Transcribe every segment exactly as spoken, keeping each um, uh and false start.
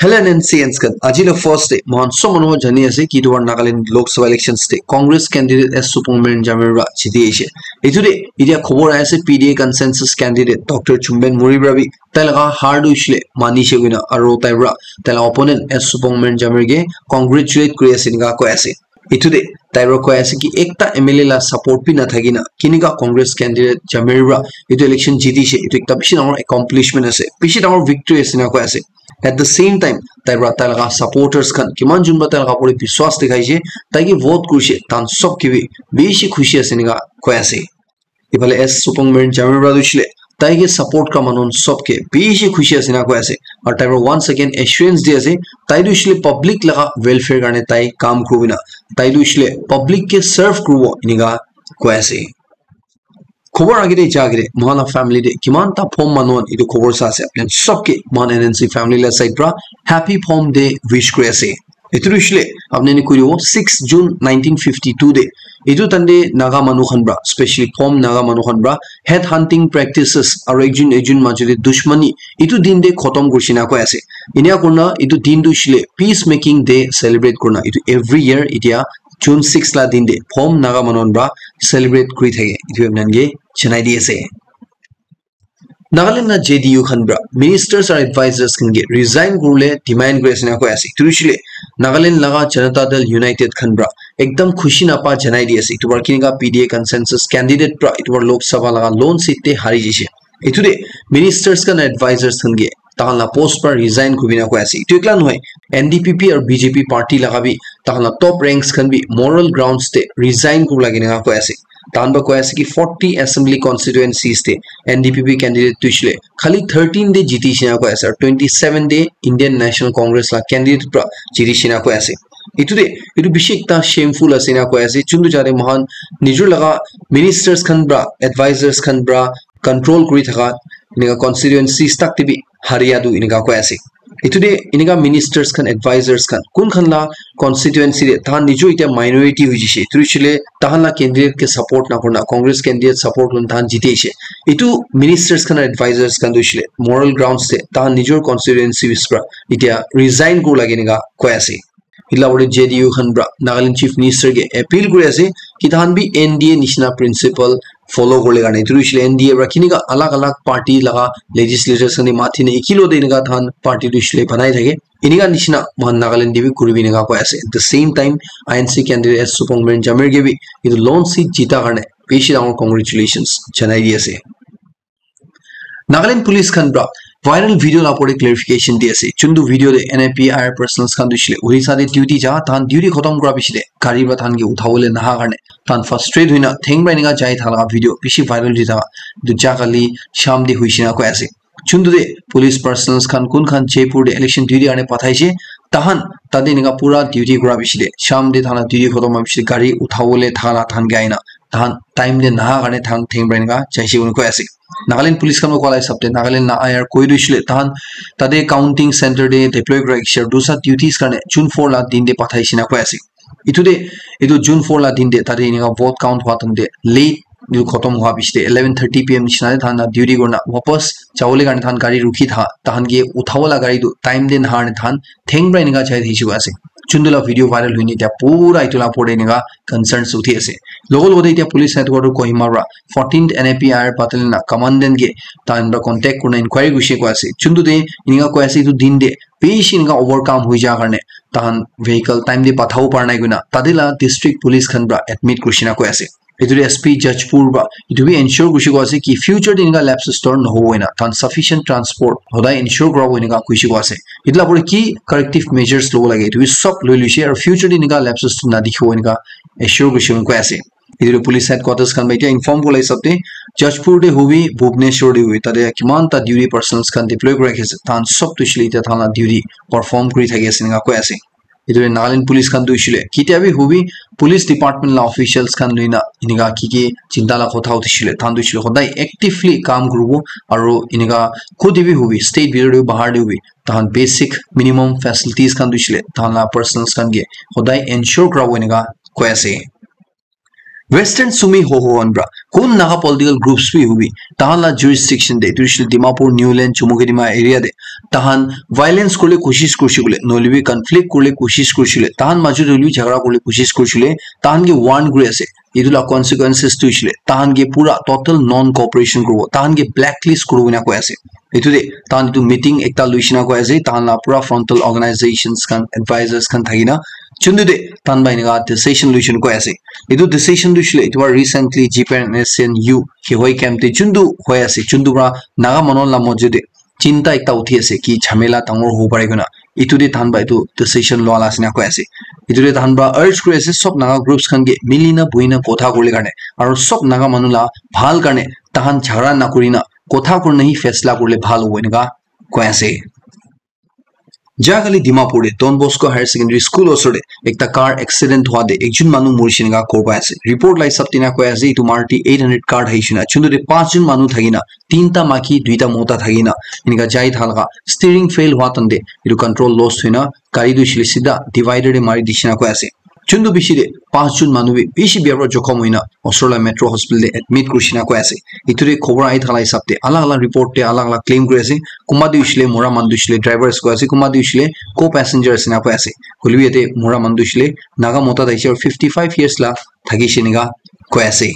Hello N N C Ns khan, aji la first day, mohan sob manu jani ase ki etu bar Nagaland Lok Sabha elections te Congress candidate S Supongmeren Jamir para jiti aise. Etu te etia khobor ahi ase P D A consensus candidate Doctor Chumben Murry para bi tai laga har tu hoishe le mani she koina aro tai para tai laga opponent S Supongmeren Jamir ke congratulate kuri ase enika koi ase. Etu te tai para koi ase ki ekta M L A la support bi nathaki na kinika Congress candidate Jamir para etu election jiti she, etu ekta bishi dangor accomplishment ase, bishi dangor victory ase na koi ase. At the same time, tai para tai laga supporters khan kiman jun para tai laga opor te biswas dikhai she, tai ke vote kuri she, tan sob ke bi bishi khushi ase enika koi ase. Ifale S Supongmeren Jamir para tu hoishe le tai ke support kura manu sob ke bishi khushi ase enika koi ase. Aru tai para once again assurance di ase, tai tu hoishe le public laga welfare karne tai kam kuribo na, tai tu hoishe le public ke serve kuribo enika koi ase. Khobor age te ja age te mohan la family te kiman ta phom manu khan etu khobor sa ase, apni khan sob ke mohan N N C family la side para happy Phom Day wish kuri ase. Etu tu hoishe le apni khan koi dibo six June nineteen fifty-two te etu time te Naga manu khan para, specially Phom Naga manu khan para head hunting practices aru ekjun ekjun majo te dushmani etu din te khotom kuri she enika koi ase. Enika kurina etu din tu hoishe le peace making day celebrate kurina etu every year etia June six la din te Phom Naga manu khan para celebrate kuri thake, etu apni khan ke janai di ase. Nagaland la J D U khan para ministers aru advisors khan ke resign kuribole demand kuri ase enika koi ase. Etu hoishe le Nagaland laga Janata Dal United khan para ekdam khushi napa janai di ase. Etu para kinika P D A consensus candidate para etu para Lok Sabha laga lone seat te hari jaise. Etu te ministers khan, advisors khan ke tahan la post para resign kuribole koi ase. Etu ekla nohoi, N D P P aru B J P party laga bi tahan la top ranks khan bi moral grounds te resign kuribo lage enika koi ase. Tahan para koi ase ki forty assembly constituencies te N D P P candidate tu hoishe le khali thirteen te jiti she enika koi ase, aru twenty seven te Indian National Congress la candidate para jiti she enika koi ase. Etu te etu bishi ekta shameful ase enika koi ase. Juntu jate mohan nijor laga ministers khan para, advisors khan para control kuri thaka enika constituencies tak te bi haria tu enika koi ase. Etu te enika ministers khan, advisors khan, kun khan la constituency te tahan nijor etia minority hoi jishe, etu hoishe le tahan la candidate ke support na kurina Congress candidate support kurina tahan jiti aise. Etu ministers khan, advisors khan tu hoishe le moral grounds te tahan nijor constituencies para etia resign kuribo lage enika koi ase. Etu la opor te J D U khan para Nagaland Chief Minister ke appeal kuri ase ki tahan bi N D A nishina principle follow kuribole karne. Etu tu hoishe le N D A para kinika alag alag party laga legislators khan ke mati na ekilog te enika tahan party tu hoishe le banai thake. Enika nishina mohan Nagaland te bi kuribi enika koi ase. At the same time, I N C candidate S Supongmeren Jamir ke bi etu lone seat jita karne bishi dangor congratulations janai di ase. Nagaland Police khan para viral video la opor te clarification di ase. Juntu video te N A P I R personnel khan tu hoishe le Orissa te duty ja, tahan duty khotom kura piche te gari para tahan ke uthabole naha karne tahan frustrate hoina theng para enika jai thaka laga video bishi viral di thaka. Etu ja kali sham te hoishe enika koi ase. Juntu te police personnel khan kun khan Jaipur te election duty karne pathaishe, tahan tate enika pura duty kura piche te sham te tahan la duty khotom hua piche te gari uthabole thaka la tahan ke ahina tahan time te naha karne tahan theng para enika jaise koina koi ase. Nagaland Police khan para koa la hisab te Nagaland la I R koi tu hoishe le tahan tate counting center te deploy kura rakhishe, dusa duties karne June four la din te pathaishe enika koi ase. Etu te etu June four la din te tate enika vote count hua time te late etu khotom hua piche te eleven thirty P M nishina te tahan la duty kurina wapas jabole karne tahan gari rukhi tha, tahan ke uthabo la gari tu time te naha karne tahan theng para enika jai thakishe koi ase. Juntu la video viral hoine etia pura etu la opor te enika concerns uthi ase. Logo logo te etia police headquarter Kohima para fourteenth N A P I R battalion la commandant ke tahan para contact kurina inquiry kurishe koi ase. Juntu te enika koi ase etu din te bishi enika overcome hoi ja karne tahan vehicle time te pathabo para nai koina tate la district police khan para admit kurishe enika koi ase. Etu te S P Jajpur para etu bi ensure kurishe koi ase ki future te enika lapses tu nohobo koina tahan sufficient transport hodai ensure kurabo enika kurishe koi ase. Etu la opor te ki corrective measures lobo lage etu bi sob loi loishe aru future te enika lapses tu nadikhibo enika assure kurishe koi ase. Etu tu police headquarters khan para etia inform kura la hisab te Jajpur te hobi, Bhubaneswar te hobi, tate kiman ta duty personnel khan deploy kuri rakhi ase, tahan sob tu hoishe le etia tahan la duty perform kuri thaki ase enika koi ase. Etu te Nagaland police khan tu hoishe le ketia bi hobi police department la officials khan loina enika ki ki chinta la kotha uthishile, tahan tu hoishe le hodai actively kam kuribo aru enika khudi bi hobi state bitor te bi bahar te hobi tahan basic minimum facilities khan tu hoishe le tahan la personnel khan ke hodai ensure kurabo enika koi ase. Western Sumi ho ho khan pra kun Naga political groups bi hobi, tahan la jurisdiction de, etu hoishe Dimapur, Niuland, Chumukedima area de, tahan violence kurle koshish kurishe koile, nohoile bi conflict kurle koshish kurishe koile, tahan majot hoile bi jhagara kurle koshish kurishe koile, tahan ke warn kuri ase. Etu la consequences tu hoishe koile, tahan ke pura total non cooperation kuribo, tahan ke blacklist kuribo ena koi ase. Etu de tahan etu meeting ekta loishe na koi ase, tahan la pura frontal organizations khan, advisors khan thakina, chuntu de tahan ba eneka decision loishe na koi ase. Etu decision tu hoishe koile, etu ba recently G P N S N U Kihoi camp te chuntu hoi ase, chuntu pra Naga manu la mojo de chinta ekta uthi ase ki jhamela dangor hobo pare koina, etu de tahan ba etu decision lua la ase na koi ase. Etu de tahan ba urge kuri ase sob Naga groups khan ke mili na buhi na kotha kurle karne, aro sob Naga manu la bhal karne tahan jhagara na kuri na kotha kurina hi faisla kurle bhal hobo eneka koi ase. Jahakali Dimapur de Don Bosco Higher Secondary School osor de ekta car accident hwa de ekjun manu murishe eneka khobor pai ase. Report la hisab tina koi ase etu Maruti eight hundred car thaishe na, chuntu de panch jun manu thakina, tinta maki, duita mota thakina, eneka jai thaka laga steering fail hwa tante etu control loss hoina gari tu hoishe koile sida divider de mari dishe na koi ase. Chuntu bishi de panch jun manu bi bishi bia pra jokhom hoina osor la Metro Hospital de admit kurishe na koi ase. Etu de khobor ahi thaka la hisab de alag alag report de alag alag claim kuri ase. Kunba tu hoishe koile mura manu tu hoishe koile drivers koi ase, kunba tu hoishe koile co-passenger ase na koi ase. Hoile bi yate mura manu tu hoishe koile Naga mota thaishe aro fifty five years la thakishe eneka koi ase.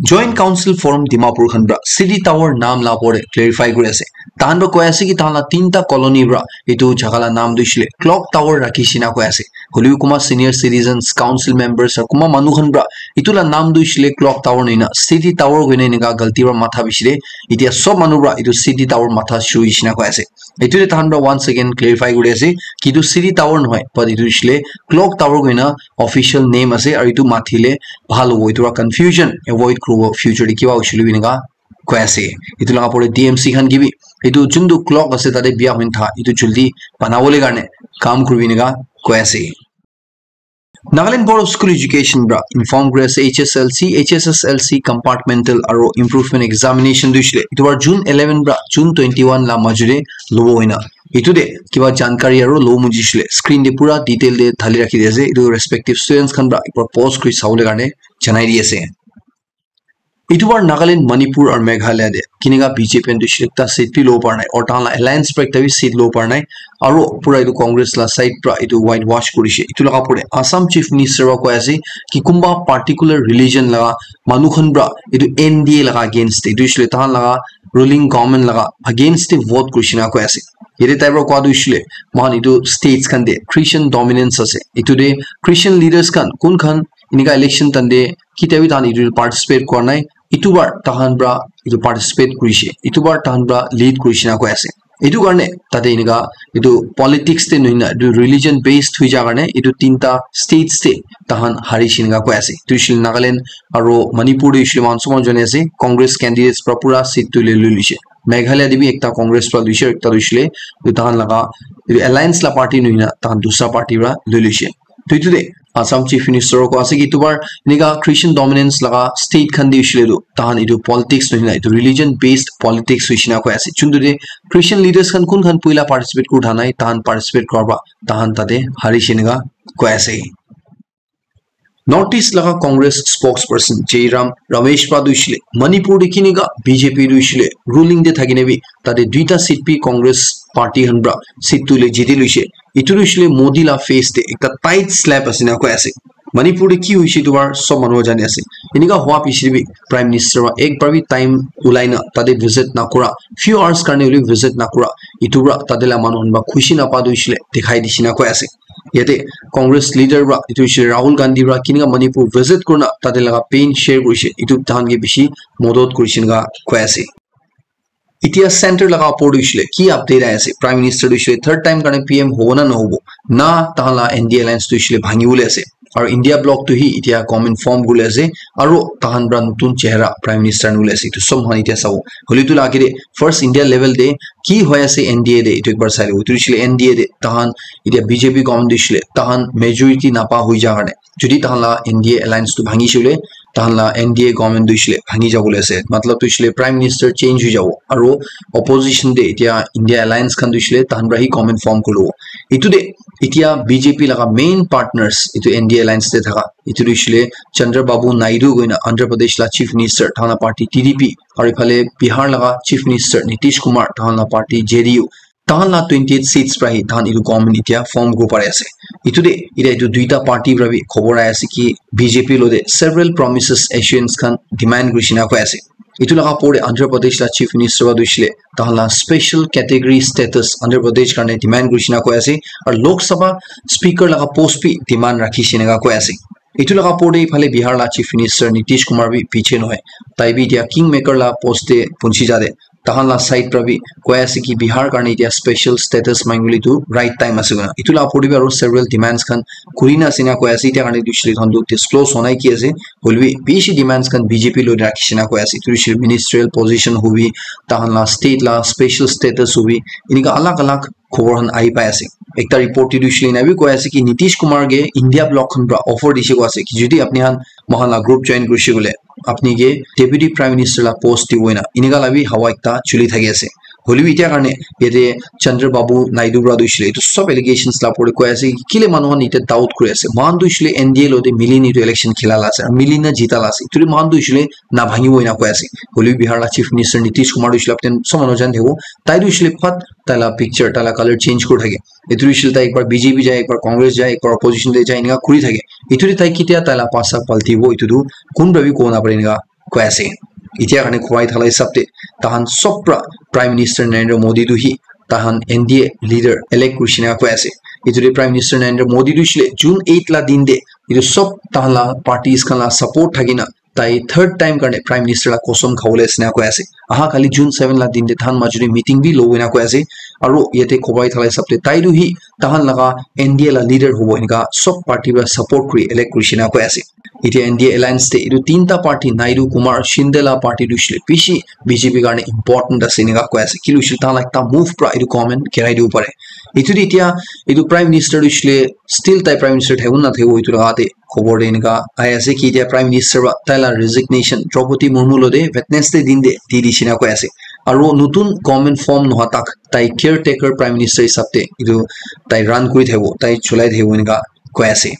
Joint Council Forum Dimapur khan pra City Tower naam la opor de clarify kuri ase. Tahan pra koi ase ki tahan la tinta colony pra etu jaga la naam tu hoishe koile Clock Tower rakhishe na koi ase. Hoile bi kunba senior citizens, council members, aro kunba manu khan pra etu la naam tu hoishe koile Clock Tower nohoina City Tower koina eneka galti pra matha bishi de, etia sob manu pra etu City Tower matha shuru hoishe na koi ase. Etu de tahan pra once again clarify kuri ase ki etu City Tower nohoi, but etu hoishe koile Clock Tower koina official name ase, aro etu mathile bhal hobo, etu pra confusion avoid kuribo, future de kiba hoishe koile bi eneka koi ase. Etu laga opor de D M C khan ke bi etu juntu clock ase tate bia hoina tha, etu juldi banabole karne kam kuribi eneka koi ase. Nagaland Board of School Education pra inform kuri ase H S L C, H S S L C compartmental aro improvement examination tu hoishe koile etu bar June eleven pra June twenty one la majo de lobo hoina. Etu de kiba jankari aro lobo moji hoishe koile screen de pura detail de thali rakhi di ase. Etu respective students khan pra ekbar pause kuri sabole karne janai di ase. Etu bar Nagaland, Manipur aru Meghalaya de kinika B J P khan tu hoishe koile ekta seat bi lobo para nai, aru tahan la alliance para ekta bi seat lobo para nai, aru pura etu Congress la side para etu white wash kurishe. Etu laga opor te Assam Chief Minister para koi ase ki kunba particular religion laga manu khan para etu N D A laga against te, etu hoishe koile tahan laga ruling government laga against te vote kurishe na koi ase. Yate tai para koa tu hoishe koile moikhan etu states khan te Christian dominance ase, etu te Christian leaders khan kun khan enika election time te ketia bi tahan etu te participate kura nai, etu bar tahan para etu participate kurishe, etu bar tahan para lead kurishe na koi ase. Etu karne tate enika etu politics te nohoi na etu religion based hoi ja karne etu tinta states te tahan harishe enika koi ase. Etu hoishe koile Nagaland aru Manipur te hoishe koile moikhan sob manu jane ase, Congress candidates para pura seat tu le lui loishe. Meghalaya te bi ekta Congress para loishe, ekta tu hoishe koile etu tahan laga etu alliance la party nohoi na tahan dusra party para lui loishe. To etu te Assam Chief Minister koi ase ki etu bar enika Christian dominance laga state khan te hoishe koile tu tahan etu politics nohoi na etu religion based politics hoishe na koi ase. Juntu te Christian leaders khan kun khan puila participate kuri tha nai, tahan participate kura ba tahan tate harishe enika koi ase. North East laga Congress spokesperson Jairam Ramesh para tu hoishe koile Manipur te kinika B J P tu hoishe koile ruling te thaki na bi tate duita seat bi Congress party khan para seat tu le jiti loishe. Etu tu hoishe koile Modi la face te ekta tight slap ase na koi ase. Manipur te ki hoishe etu bar sob manu jane ase. Enika hua piche te bi Prime Minister para ek bar bi time ulai na tate visit na kura, few hours karne hoile visit na kura, etu para tate la manu khan para khushi na pa tu hoishe koile dikhai dishe na koi ase. Yate Congress leader para etu hoishe Rahul Gandhi para kinika Manipur visit kurina tate laga pain share kurishe, etu tahan ke bishi modot kurishe enika koi ase. Etia center laga opor te hoishe koile ki update ahi ase? Prime Minister tu hoishe koile third time karne P M hobo na nohobo? Na tahan la N D A alliance tu hoishe koile bhangi bole ase. Aru India bloc tu hi etia government form kuri ase. Aru tahan para notun chehra Prime Minister anibole ase. Etu sob moikhan etia sabo. Hoile etu la age te first India level te ki hoi ase N D A te etu ekbar sai lobo. Etu hoishe koile N D A te tahan etia B J P government tu hoishe koile tahan majority napa hoi ja karne, jodi tahan la N D A alliance tu bhangishe koile, tahan la N D A government tu hoishe koile bhangi jabole ase. Matlab tu hoishe koile Prime Minister change hoi jabo. Aru opposition te etia India alliance khan tu hoishe koile tahan para hi government form kuri lobo. Itu de, itia B J P laga main partners, itu N D A alliance te thaka, itu tu hoishe le Chandrababu Naidu koina Andhra Pradesh la Chief Minister, tahan la party T D P, aru iphale Bihar laga Chief Minister Nitish Kumar, tahan la party J D U, tahan la twenty-eight seats pra hi tahan itu government itia form kuribo pari ase. Itu de, itia itu duita party pra bi khobor ahi ase ki B J P lo de several promises, assurance khan demand kurishe na koi ase. Itu laga opor de Andhra Pradesh la Chief Minister wa tu hoishe le tahan la special category status Andhra Pradesh karne demand kurishe na koi ase, aru Lok Sabha Speaker laga post bi demand rakhishe na koi ase. Itu laga opor de iphale Bihar la Chief Minister Nitish Kumar bi piche nohoi, tai bi itia kingmaker la post de punchi ja de, tahan la side pra bi koi ase ki Bihar karne itia special status mangibole tu right time ase koina. Itu la opor de bi aru several demands khan kuri na ase na koi ase. Itia karne tu hoishe le tahan tu disclose hwa nai ki ase, hoilebi bishi demands khan B J P lo rakhishe na koi ase. Itu hoishe le ministerial position hobi, tahan la state la special status hobi, enika alag alag khobor khan ahi pai ase. Ekta report te tu hoishe le ena bi koi ase ki Nitish Kumar ke India bloc khan pra offer dishe koi ase ki jodi apni khan moikhan la group join kurishe koile, apni ke Deputy Prime Minister la post dibo ena, enika la bi hawa ekta chuli thaki ase. Hoilebi itia karne yate Chandrababu Naidu pra tu hoishe le itu sob allegations la opor de koi ase ki kile manu khan itia doubt kuri ase, moikhan tu hoishe le N D A lo de mili na itu election khila la ase, aru mili na jita la ase, itu de moikhan tu hoishe le na bhangibo ena koi ase. Hoilebi Bihar la Chief Minister Nitish Kumar tu hoishe le apni khan sob manu jani thakibo, tai tu hoishe le phat tai la picture, tai la color change kuri thake. Itu hoishe le tai ekbar B J P jai, ekbar Congress jai, ekbar opposition te jai, enika kuri thake. Itu de tai ketia tai la pasa paltibo, itu tu kun pra bi kobo na pare enika koi ase. Itia karne khowai thala hisab te tahan sob pra Prime Minister Narendra Modi tu hi tahan N D A leader elect kurishe na koi ase. Itu de Prime Minister Narendra Modi tu hoishe le June eight la din de itu sob tahan la parties khan la support thaki na tai third time karne Prime Minister la kosam khabole ase na koi ase. Aha kali June seven la din de tahan majuri meeting bi lobo ena koi ase. Aru yate khowai thala hisab te tai tu hi tahan laga N D A la leader hobo enika sob party pra support kuri elect kurishe na koi ase. Itia N D A alliance te itu tinta party, Naidu, Kumar, Shinde la party tu hoishe le bishi B J P karne important ase enika koi ase. Kile hoishe le tahan la ekta move pra itu government girai dibo pare. Itu de itia itu Prime Minister tu hoishe le still tai Prime Minister thakibo na thakibo itu laga te khobor de enika ahi ase ki itia Prime Minister pra tai la resignation Draupadi Murmu lo de Wednesday din de di dishe na koi ase. Aru notun government form nohwa tak tai caretaker Prime Minister hisab te itu tai run kuri thakibo, tai cholai thakibo enika koi ase.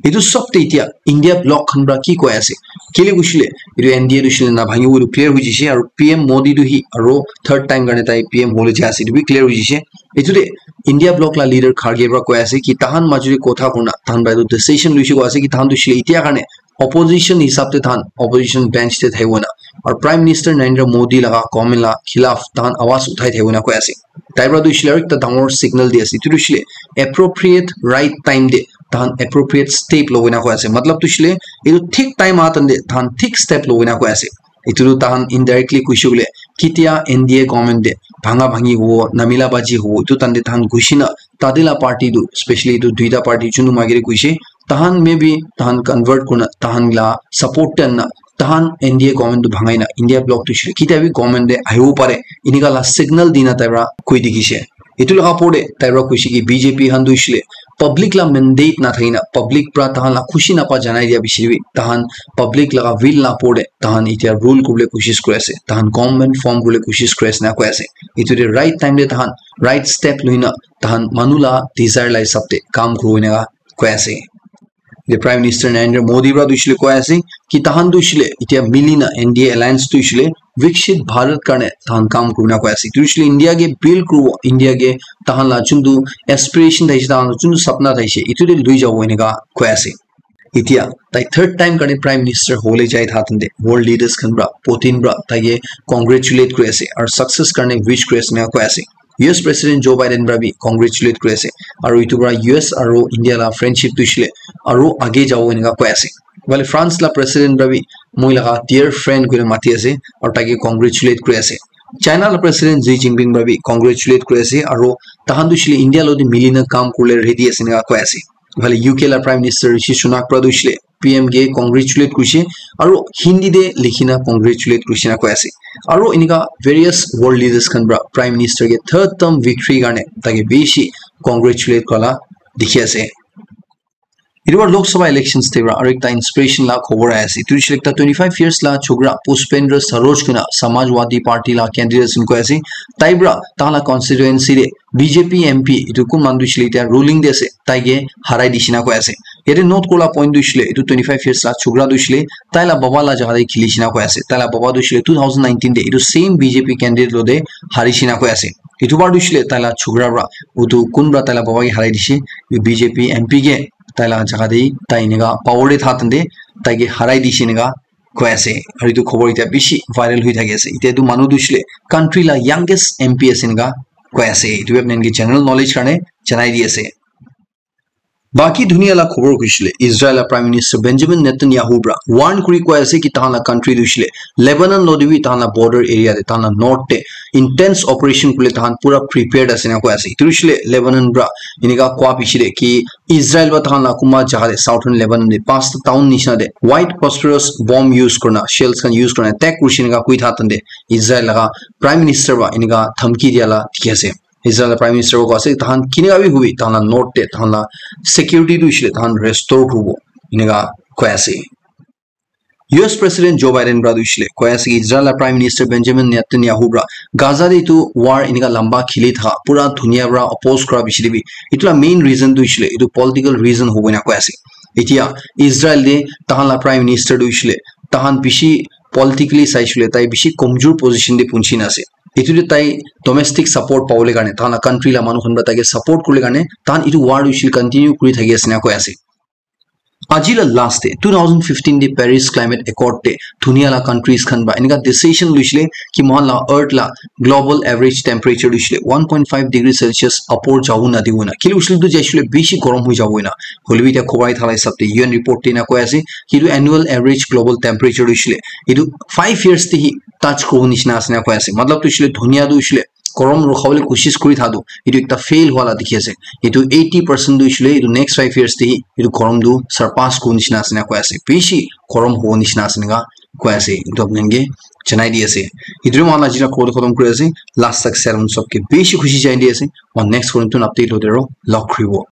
Itu sob te itia India bloc khan pra ki koi ase? Kile hoishe le itu N D A tu hoishe le na bhangibo itu clear hoi jishe, aru P M Modi tu hi aru third time karne tai P M hole jai ase, itu bi clear hoi jishe. Itu de India bloc la leader Kharge pra koi ase ki tahan majuri kotha kurna tahan pra itu decision luishe koi ase ki tahan tu hoishe le itia karne opposition hisab te tahan opposition bench te thakibo na, aru Prime Minister Narendra Modi laga government la khilaf tahan awaz uthai thakibo na koi ase. Tai pra tu hoishe le aru ekta dangor signal di ase, itu tu hoishe le appropriate right time de tahan appropriate step lobo ena koi ase. Matlab tu hoishe le itu thik time aha time de tahan thik step lobo ena koi ase. Itu tu tahan indirectly koishe koile ketia N D A government de bhanga bhangi hobo, namila baji hobo, itu time de tahan gushi na tate la party tu, specially itu duita party junu magere koishe, tahan maybe tahan convert kurna tahan la support te anna, tahan N D A government tu bhangai na India bloc tu hoishe le ketia bi government de ahibo pare, enika la signal dina tai pra koi dikhishe. Itu laga opor de tai pra koishe ki B J P khan tu hoishe le public la mandate na thaki na public pra tahan la khushi napa janai dia bishi bi tahan public laga will la opor de tahan itia rule kuribole koshish kuri ase, tahan government form kuribole koshish kuri ase na koi ase. Itu de right time de tahan right step loi na tahan manu la desire la hisab de kam kuribo ena koi ase. The Prime Minister Narendra Modi pra tu hoishe le koi ase ki tahan tu hoishe le itia mili na N D A alliance tu hoishe le Viksit Bharat karne tahan kam kuribo na koi ase. Tu hoishe le India ke build kuribo, India ke tahan la juntu aspiration thaishe, tahan la juntu sapna thaishe, itu de lui jabo enika koi ase. Itia tai third time karne Prime Minister hole jai tha time de world leaders khan pra, Putin pra tai ke congratulate kuri ase aru success karne wish kuri ase enika koi ase. U S President Joe Biden pra bi congratulate kuri ase. Aru itu pra U S aru India la friendship tu hoishe le aru age jabo enika koi ase. Iphale France la President pra bi moi laga dear friend koina mati ase aru tai ke congratulate kuri ase. China la President Xi Jinping pra bi congratulate kuri ase aru tahan tu hoishe le India lo de mili na kam kuribole ready ase enika koi ase. Iphale U K la Prime Minister Rishi Sunak pra tu hoishe le P M ke congratulate kurishe aru Hindi te likhi na congratulate kurishe na koi ase. Aru enika various world leaders khan pra Prime Minister ke third term victory karne tai ke bishi congratulate kura la dikhi ase. Etu para Lok Sabha elections te para aru ekta inspiration la khobor ahi ase. Etu hoishe ekta twenty five years la chokra Pushpendra Saroj koina Samajwadi Party la candidate ase koi ase. Tai para tahan la constituency te B J P M P etu kun manu tu hoishe le ruling te ase, tai ke harai dishe na koi ase. Yate note kura la point tu hoishe le etu twenty five years la chokra tu hoishe le tai la baba la jaga te kheli she na koi ase. Tai la baba tu hoishe le two thousand nineteen te etu same B J P candidate lo te hari she na koi ase. Etu bar tu hoishe le tai la chokra para utu kun para tai la baba ke harai dishe, B J P M P ke tai la jaga te tai enika power te tha tante tai ke harai dishe enika koi ase. Aru etu khobor etiya bishi viral hoi thaki ase. Etiya etu manu tu hoishe le country la youngest M P ase enika koi ase. Etu apni khan ke general knowledge karne janai di ase. Baki dunia la khobor hoishe le Israel la Prime Minister Benjamin Netanyahu para warn kuri koi ase ki tahan la country tu hoishe le Lebanon lo te bi tahan la border area te tahan la north te intense operation kule tahan pura prepared ase na koi ase. Etu hoishe le Lebanon para enika koi bishi de ki Israel para tahan la kunba jaga te southern Lebanon te pasta town nishina te white phosphorus bomb use kurina shells khan use kurina attack kurishe enika koi tha tante Israel laga Prime Minister para enika dhamki dia la dikhi ase. Israel Prime Minister ko ase tahan kinika bi hobi tahan la north te tahan la security tu hoishe le tahan restore kuribo enika koi ase. U S President Joe Biden para tu hoishe le koi ase ki Israel Prime Minister Benjamin Netanyahu para Gaza te etu war enika lamba kheli thaka pura dunia para oppose kura bishi de bi etu la main reason tu hoishe le etu political reason hobo na koi ase. Etiya Israel te tahan la Prime Minister tu hoishe le tahan bishi politically saishe le tai bishi komjor position te punchi na ase. Etu te tai domestic support pabole karne tahan la country la manu khan para tai ke support kurle karne tahan etu war tu hoishe le continue kuri thaki ase na koi ase. Aji la last te two thousand fifteen te Paris Climate Accord te dunia la countries khan para enika decision loishe le ki mohan la earth la global average temperature loishe le one point five degree Celsius upor jabo na dibo na. Kile hoishe le tu jaishe le bishi gorom hoi jabo na. Hoile bi etiya khobor ahi thala hisab te U N report te na koi ase ki etu annual average global temperature loishe le etu five years te hi touch kuribo nishina ase na koi ase. Matlab tu hoishe le dunia tu hoishe le gorom rukha bole koshish kuri tha tu etu ekta fail hua la dikhi ase. Etu eighty percent tu hoishe le etu next five years te hi etu gorom tu surpass kuribo nishina ase na koi ase. Bishi gorom hobo nishina ase enika koi ase. Etu apni khan ke janai di ase. Etu mohan aji la khobor khotom kuri ase. Last tak salam sob ke bishi khushi janai di ase. Aru next khobor tu update lo de ro log kuribo.